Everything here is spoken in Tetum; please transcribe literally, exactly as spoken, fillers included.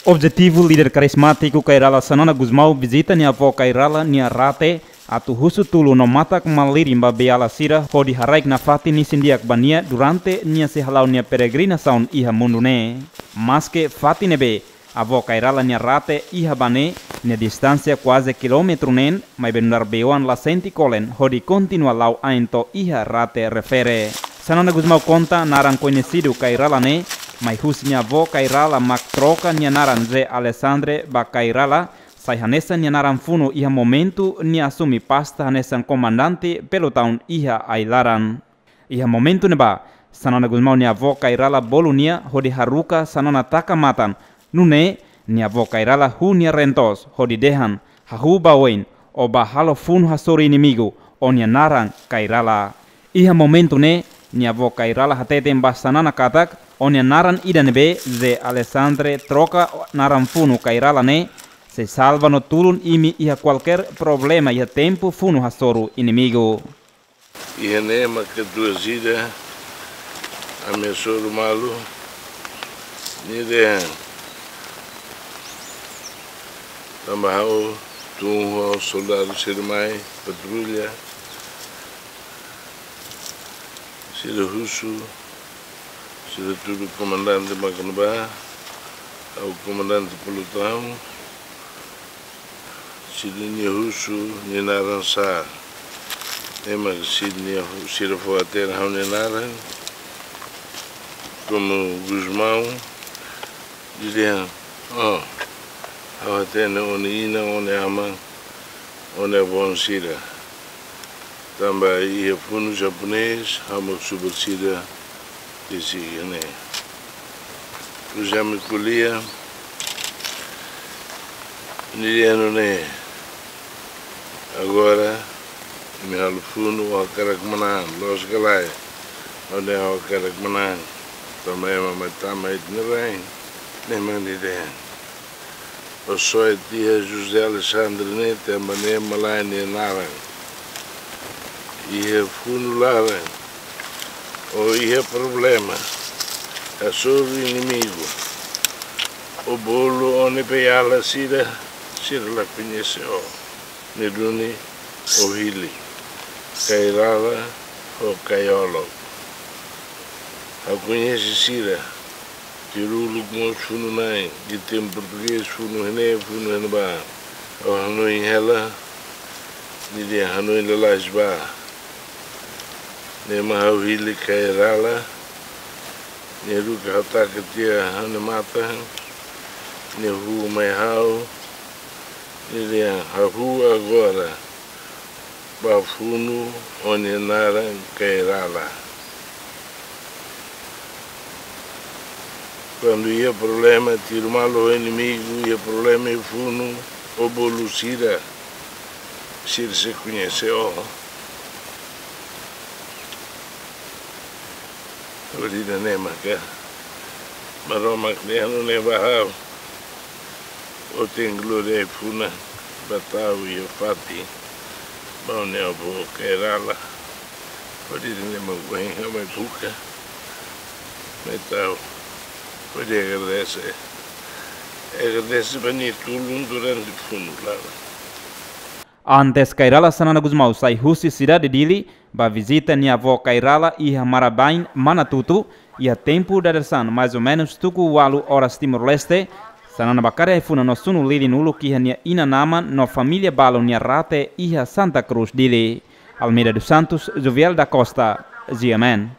Objetivu líder karizmátiku Kay Rala Xanana Gusmão vizita nia avó Kay Rala nia rate atu husu tulun no matak-malirin ba beiala sira hodi haraik nafatin isin-di'ak ba nia durante nia sei hala'o nia peregrinasaun iha mundu ne'e. Maske fatin ne'ebé avó Kay Rala nia rate iha ba ne'e, nia distánsia kuaze kilómetru neen, maibé nu'udar bei-oan la sente kolen hodi kontinua la'o ain to'o iha rate refere. Xanana Gusmão konta naran koñesidu Kay Rala ne'e mai husi nia avó Kay Rala mak troka nia naran Zé Alexandre ba Kay Rala, sai hanesan nia naran funu iha momentu nia asume pasta hanesan komandante pelotaun iha ai-laran. Iha momentu ne'ebá, Xanana Gusmão nia avó Kay Rala bolu nia hodi haruka Xanana taka matan. Nune'e, nia avó Kay Rala huu nia reen-toos hodi dehan, hahú ba oin, ó bá halo funu hasoru inimigu, ó-nia naran Kay Rala. Iha momentu ne'e, nia avó Kay Rala hateten ba Xanana katak, ó-nia naran ida ne'ebé Zé Alexandre troka naran funu Kay Rala ne'e, sei salva no tulun imi iha kualkér problema iha tempu funu hasoru inimigu. Iha ne'e maka tuas ida, ami hasoru malu, nia dehan, tanba ha'u tun ho soldadu sira mai patrulla, sira husu, sira tudu komandante mak ne'ebá, ha'u komandante pelotaun, sira-nia husu nia naran sá. Ema sira-nia hu-, sira fó hatene ha'u-nia naran, komu Gusmão, nia dehan, oh, ha'u hatene ó-nia inan, ó-nia aman, ó-nia avó sira. Tanba iha funu japonés, ha'u mak subar sira tesi iha ne'e. Depois ami ko'alia, nia dehan nune'e, agora, imi halo funu, ó hakarak manán, loos ka lae? Ha'u dehan ha'u hakarak manán, tanba ema mai tama iha ita-nia rain, ne'e mak nia dehan. Ó soe tiha José Alexandre ne'e, tanba ne'e malae nia naran. Iha funu laran, ó iha problema, hasoru inimigu, ó bolu ó-nia beiala sira, sira la koñese ó. Ne'e duni ó hili, Kay Rala ho Kay Olok. Ha'u koñese sira, tiru uluk mós funu-na'in, ita-nia portugés funu iha ne'e, funu iha ne'ebá. Ha'u hanoin hela, nia dehan hanoin lalais ba. Ne'e mak ha'u hili Kay Rala, nia haruka ha'u taka tiha ha'u-nia matan, nia huu mai ha'u, nia dehan hahú agora, bá funu ó-nia naran Kay Rala. Kuandu iha problema, tiru malu ho inimigu, iha problema iha funu, ó bolu sira, sira sei koñese ó. Hodi nune'e maka Maromak nia anu ne'e ba ha'u. Ó tenke lori ai-funan ba tau iha fatin ba ó-nia avó Kay Rala. Hodi nune'e mak ohin ha'u mai buka, mai tau, hodi agradese. Agradese ba nia tulun durante funu laran. Antes Kay Rala Xanana Gusmão sai husi sidade Dili, bá vizita nia avó Kay Rala iha Marabain, Manatutu, iha tempu dadeer-saan, mais ou menos tuku ualu oras Timor-Leste, Xanana bá kari ai-funan no sunu lilin uluk iha nia inan-aman no família balun nia rate iha Santa Cruz, Dili. Almeida dos Santos, Jovial da Costa, G M N.